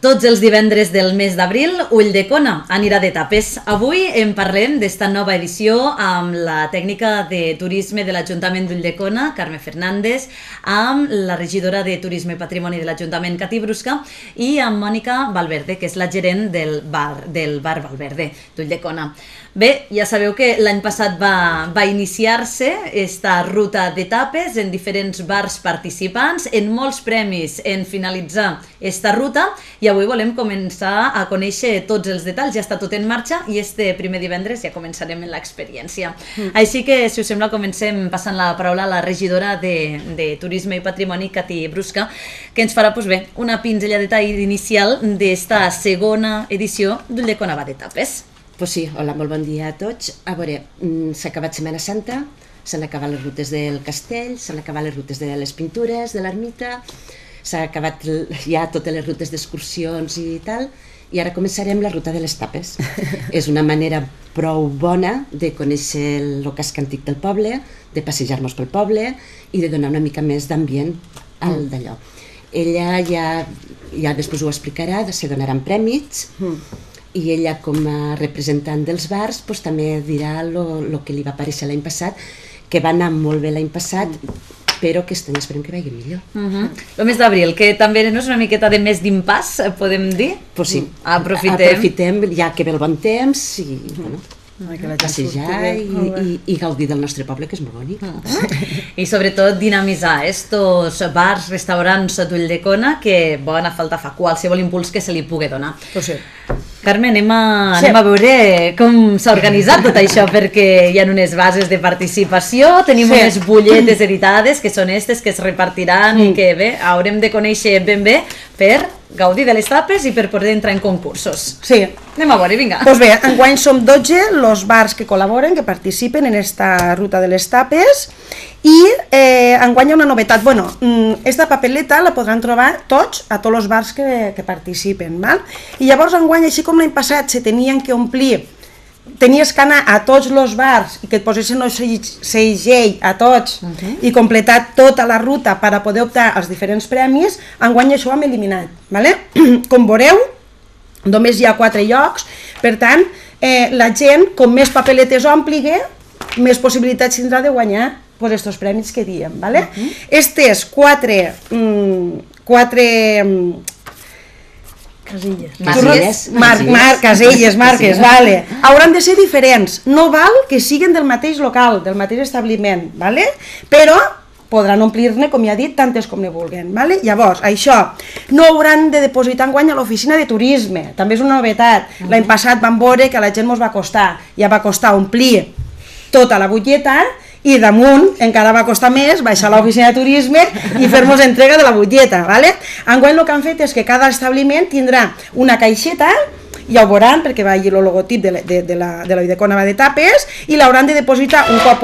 Tots els divendres del mes d'abril, Ulldecona anirà de tapes. Avui en parlem d'esta nova edició amb la tècnica de turisme de l'Ajuntament d'Ulldecona, Carme Fernández, amb la regidora de Turisme i Patrimoni de l'Ajuntament, Cati Brusca, i amb Mònica Valverde, que és la gerent del bar Valverde d'Ulldecona. Bé, ja sabeu que l'any passat va iniciar-se esta ruta d'etapes en diferents bars participants, en molts premis en finalitzar esta ruta, i avui volem començar a conèixer tots els detalls. Ja està tot en marxa i este primer divendres ja començarem en l'experiència. Així que, si us sembla, comencem passant la paraula a la regidora de Turisme i Patrimoni, Cati Brusca, que ens farà una pinzellada inicial d'esta segona edició d'Ulldecona va d'etapes. Pues sí, hola, molt bon dia a tots. A veure, s'ha acabat Setmana Santa, s'han acabat les rutes del castell, s'han acabat les rutes de les pintures, de l'ermita, s'ha acabat ja totes les rutes d'excursions i tal, i ara començarem la ruta de les tapes. És una manera prou bona de conèixer el casc antic del poble, de passejar-nos pel poble i de donar una mica més d'ambient al d'allò. Ella ja després ho explicarà, se donaran prèmits, i ella, com a representant dels bars, també dirà el que li va aparèixer l'any passat, que va anar molt bé l'any passat, però aquest any esperem que vagi millor. El mes d'abril, que també no és una miqueta de mes d'impàs, podem dir? Pues sí, aprofitem ja que ve el bon temps i passejar i gaudir del nostre poble, que és molt bonic. I sobretot dinamitzar estos bars, restaurants d'Ulldecona, que bona falta fa qualsevol impuls que se li pugui donar. Carme, anem a veure com s'ha organitzat tot això, perquè hi ha unes bases de participació, tenim unes butlletes editades, que són aquestes que es repartiran i que bé, haurem de conèixer ben bé per gaudir de les tapes i per poder entrar en concursos. Sí. Anem a veure, vinga. Doncs bé, enguany som 12 els bars que col·laboren, que participen en esta ruta de les tapes, i enguany hi ha una novetat. Bueno, esta papeleta la podran trobar a tots els bars que participen, val? I llavors enguany, així com l'any passat se tenien que omplir, tenies que anar a tots els bars i que et posessin el segell a tots i completar tota la ruta per a poder optar als diferents premis, enguany això ho hem eliminat, vale? Com veureu, només hi ha 4 llocs, per tant, la gent, com més papeletes ompligui, més possibilitats tindrà de guanyar aquests premis que diem, vale? Estes 4 caselles, marques, vale, hauran de ser diferents, no val que siguin del mateix local, del mateix establiment, vale? Però podran omplir-ne, com ja he dit, tantes com ne vulguin, vale? Llavors, això no hauran de depositar enguany a l'oficina de turisme, també és una novetat. L'any passat vam veure que a la gent ens va costar, ja va costar omplir tota la butlleta, i damunt encara va costar més baixar a l'oficina de turisme i fer-nos entrega de la butlleta, vale? Enguany el que han fet és que cada establiment tindrà una caixeta, ja ho veuran perquè va allí el logotip de l'Ulldecona va de tapes, i l'hauran de depositar un cop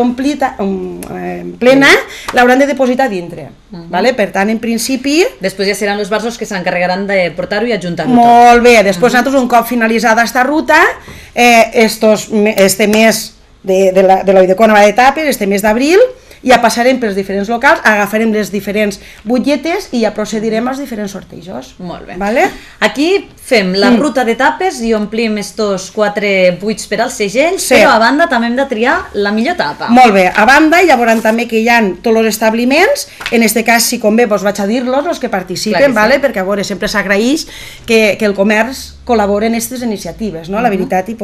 plena, l'hauran de depositar dintre, vale? Per tant, en principi... Després ja seran els bars que s'encarregaran de portar-ho i ajuntar-ho tot. Molt bé, després nosaltres un cop finalitzada esta ruta, este mes de l'Ulldecona va de tapes, este mes d'abril, ja passarem pels diferents locals, agafarem les diferents butlletes i ja procedirem als diferents sortejos. Molt bé. Vale? Aquí fem la ruta de tapes i omplim estos 4 buits per als segells, però a banda també hem de triar la millor tapa. Molt bé, a banda ja veuran també que hi ha tots els establiments, en este cas si convé vaig a dir-los, els que participen, perquè a veure, sempre s'agraeix que el comerç col·labora en aquestes iniciatives, la veritat, i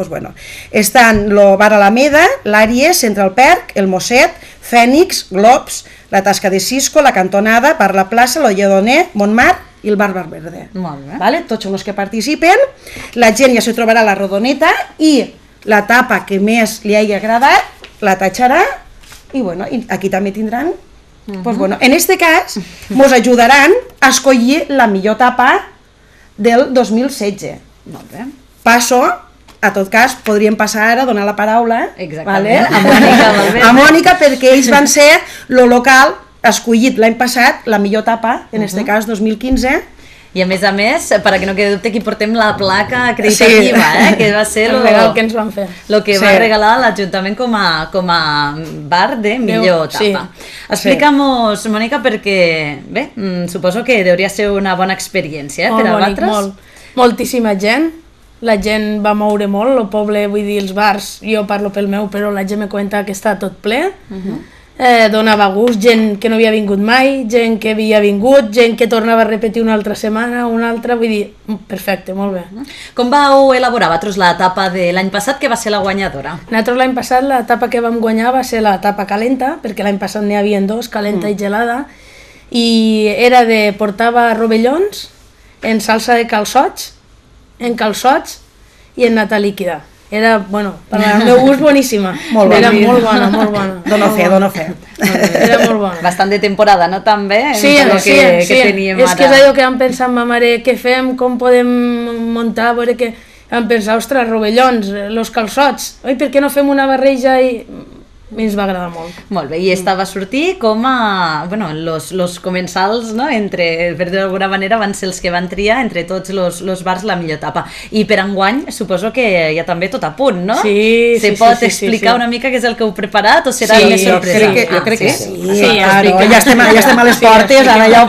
estan el Bar Alameda, l'Àries, Central Perk, el Mosset, Fènix, Globs, la Tasca de Cisco, la Cantonada, Per la Plaça, el Lledoner, Montmartre i el Bar Valverde. Molt bé. Tots són els que participen, la gent ja se trobarà la rodoneta i la tapa que més li hagi agradat la tatxarà i aquí també tindran, en aquest cas ens ajudaran a escollir la millor tapa del 2016. Molt bé. Passo, a tot cas, podríem passar ara a donar la paraula a Mònica, perquè ells van ser el local escollit l'any passat, la millor tapa, en aquest cas 2015. I a més, perquè no quedi dubte, aquí portem la placa acreditativa, que va ser el regal que ens van fer. El que va regalar l'Ajuntament com a bar de millor tapa. Explica'm-nos, Mònica, perquè, bé, suposo que hauria ser una bona experiència per a vosaltres. Molt. moltíssima gent. La gent va moure molt, el poble, vull dir, els bars, jo parlo pel meu, però la gent me comenta que està tot ple. Donava gust, gent que no havia vingut mai, gent que havia vingut, gent que tornava a repetir una altra setmana, una altra, vull dir, perfecte, molt bé. Com vau elaborar vosaltres l'etapa de l'any passat, que va ser la guanyadora? Nosaltres l'any passat l'etapa que vam guanyar va ser l'etapa calenta, perquè l'any passat n'hi havia dos, calenta i gelada, i era de portava rovellons en salsa de calçots, en calçots i en nata líquida. Era, bueno, per al meu gust, boníssima. Era molt bona, molt bona. Dono fe. Era molt bona. Bastant de temporada, no? També, sí, que teníem ara. És que és allò que vam pensar amb ma mare, què fem, com podem muntar, a veure que... Vam pensar, ostres, rovellons, los calçots, oi, per què no fem una barreja i... A mi ens va agradar molt. Molt bé, i esta va sortir com a... Bueno, los comensals, no?, entre, per dir d'alguna manera, van ser els que van triar entre tots los bars la millor etapa. I per enguany, suposo que hi ha també tot a punt, no? Sí, Se pot explicar una mica què és el que heu preparat o serà més sorpresa? Jo crec que sí. Ja estem a les portes, ara ja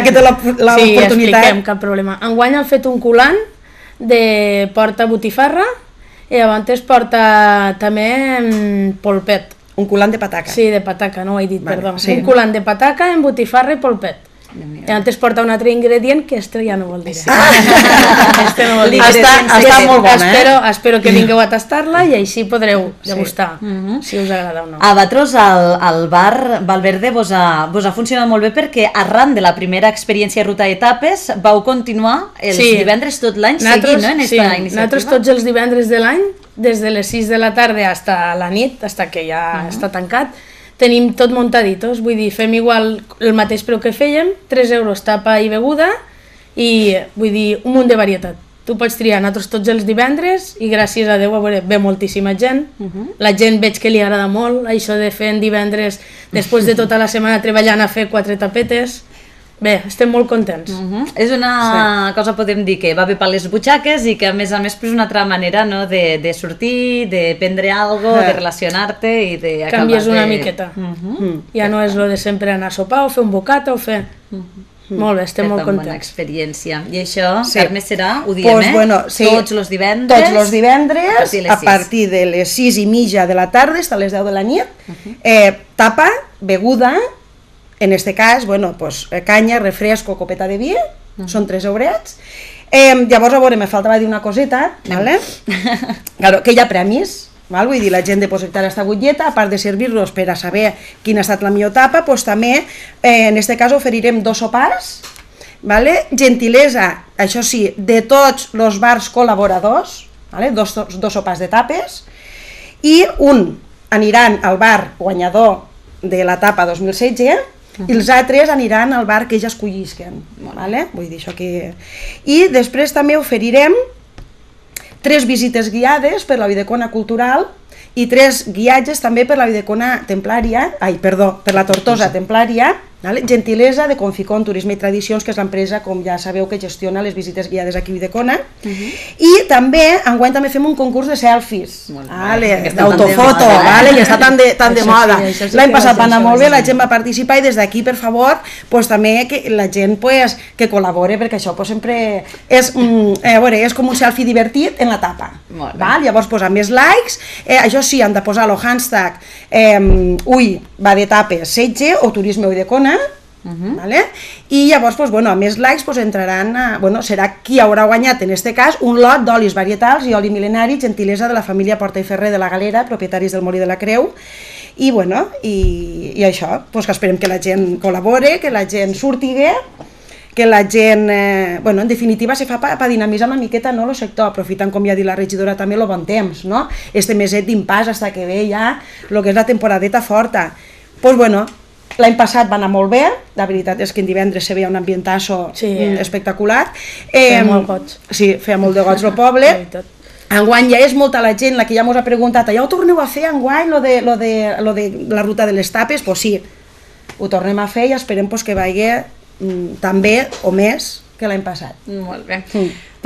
que té l'oportunitat. Sí, expliquem, cap problema. Enguany han fet un colant de porta botifarra i abans porta també polpet. Un culant de pataca. Sí, de pataca, no ho he dit, vale, perdó. Sí. Un culant de pataca en botifarra i polpet. I antes porta un altre ingredient que este ja no vol dir. Este no vol dir. Està molt bona, Espero que vingueu a tastar-la i així podreu degustar, si us agrada o no. A vosaltres el bar Valverde vos ha funcionat molt bé perquè arran de la primera experiència Ruta Etapes vau continuar els divendres tot l'any seguint, no, en esta iniciativa? Nosaltres tots els divendres de l'any, des de les 6 de la tarda fins a la nit, fins que ja està tancat, tenim tot muntaditos, vull dir, fem igual el mateix preu que fèiem, 3 euros tapa i beguda, i vull dir, un munt de varietat. Tu pots triar, nosaltres tots els divendres, i gràcies a Déu, a veure, ve moltíssima gent, la gent veig que li agrada molt, això de fer en divendres, després de tota la setmana treballant a fer 4 tapetes. Bé, estem molt contents. És una cosa, podem dir, que va bé per les butxaques i que a més és una altra manera de sortir, de prendre alguna cosa, de relacionar-te i de... Canvies una miqueta. Ja no és lo de sempre anar a sopar o fer un bocata o fer... Molt bé, estem molt contents. Bona experiència. I això, Carme, serà, ho diem, tots els divendres? Tots els divendres, a partir de les 6:30 de la tarda fins a les 10 de la nit, tapa, beguda. En este cas, bueno, pues, canya, refresco, copeta de vi, són 3 eurets. Llavors, a veure, me faltava dir una coseta, ¿vale? Claro, que hi ha premis, val? Vull dir, la gent depositar esta butlleta, a part de servir-los per a saber quina ha estat la millor tapa, pues, també, en este cas, oferirem 2 sopars, ¿vale? Gentilesa, això sí, de tots els bars col·laboradors, ¿vale? dos sopars de tapes, i un aniran al bar guanyador de la tapa 2016, i els altres aniran al bar que ja escollisquen, ¿vale? Vull dir això que... I després també oferirem 3 visites guiades per la Videcona Cultural i 3 guiatges també per la Videcona Templària, per la Tortosa Templària, ¿vale? Gentilesa de Conficon Turisme i Tradicions, que és l'empresa, com ja sabeu, que gestiona les visites guiades aquí a Videcona. I també, enguany també fem un concurs de selfies, d'autofoto, i està tan de moda. L'any passat va anar molt bé, la gent va participar i des d'aquí, per favor, també que la gent que col·labore, perquè això sempre és com un selfie divertit en la tapa. Llavors, amb més likes, això sí, han de posar el hashtag Ui, va de tapes, setge o turisme Videcona, i llavors, a més likes entraran, serà qui haurà guanyat en aquest cas un lot d'olis varietals i oli mil·lenari, gentilesa de la família Porta i Ferrer de la Galera, propietaris del Molí de la Creu, i això, que esperem que la gent col·labore, que la gent surti bé, que la gent, en definitiva, se fa per dinamitzar una miqueta el sector, aprofitant, com ja ha dit la regidora, també el bon temps, este meset d'impàs fins que ve ja el que és la temporadeta forta. L'any passat va anar molt bé, la veritat és que en divendres se veia un ambientasso espectacular. Feia molt goig. Sí, feia molt de goig el poble. Enguany ja és molta la gent la que ja ens ha preguntat, ja ho torneu a fer enguany, lo de la ruta de les tapes? Doncs sí, ho tornem a fer i esperem que vagi tan bé o més que l'any passat. Molt bé.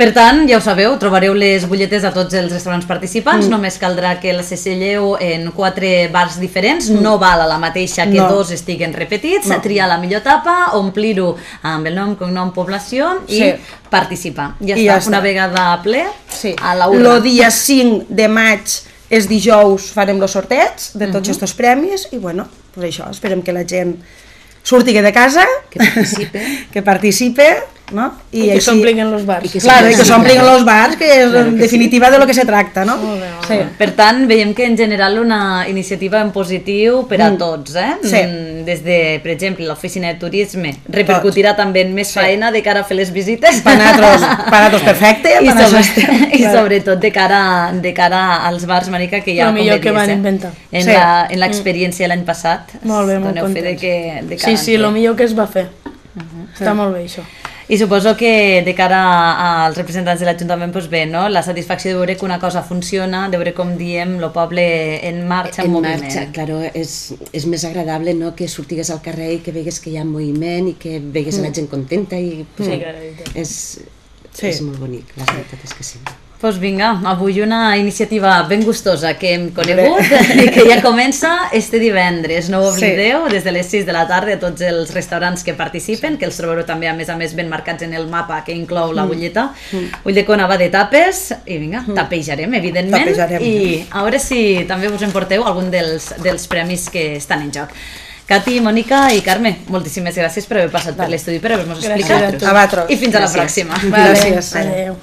Per tant, ja ho sabeu, trobareu les butlletes a tots els restaurants participants, només caldrà que les selleu en 4 bars diferents, no val a la mateixa que 2 estiguen repetits, triar la millor tapa, omplir-ho amb el nom, cognom, població i participar. Ja està, una vegada ple, a la urna. El dia 5 de maig és dijous, farem els sorteig de tots aquests premis i bueno, pues això, esperem que la gent surti de casa, que participe, no? I que s'omplin els bars. Claro, i que s'omplin els bars, que és en definitiva de lo que se tracta, no? Per tant, veiem que en general una iniciativa en positiu per a tots, des de, per exemple, l'oficina de turisme repercutirà també en més faena de cara a fer les visites. Per nosaltres perfecte. I sobretot de cara als bars, Marica, que ja, com millor que van inventar. En l'experiència l'any passat. Molt bé, molt contents. Sí, el millor que es va fer. Està molt bé, això. I suposo que de cara als representants de l'Ajuntament, doncs bé, no? La satisfacció de veure que una cosa funciona, de veure com diem el poble en marxa, en moviment. En marxa, claro, és més agradable, no?, que sortigues al carrer i que vegues que hi ha moviment i que vegues la gent contenta i és molt bonic, la veritat és que sí. Doncs vinga, avui una iniciativa ben gustosa que hem conegut i que ja comença este divendres. No ho oblideu, des de les 6 de la tarda a tots els restaurants que participen, que els trobareu també a més ben marcats en el mapa que inclou la butlleta. Ulldecona va de tapes i vinga, tapejarem, evidentment. I a veure si també us emporteu algun dels premis que estan en joc. Cati, Mònica i Carme, moltíssimes gràcies per haver passat per l'estudi, per haver-nos explicat. A vosaltres. I fins a la pròxima. Gràcies. Adéu.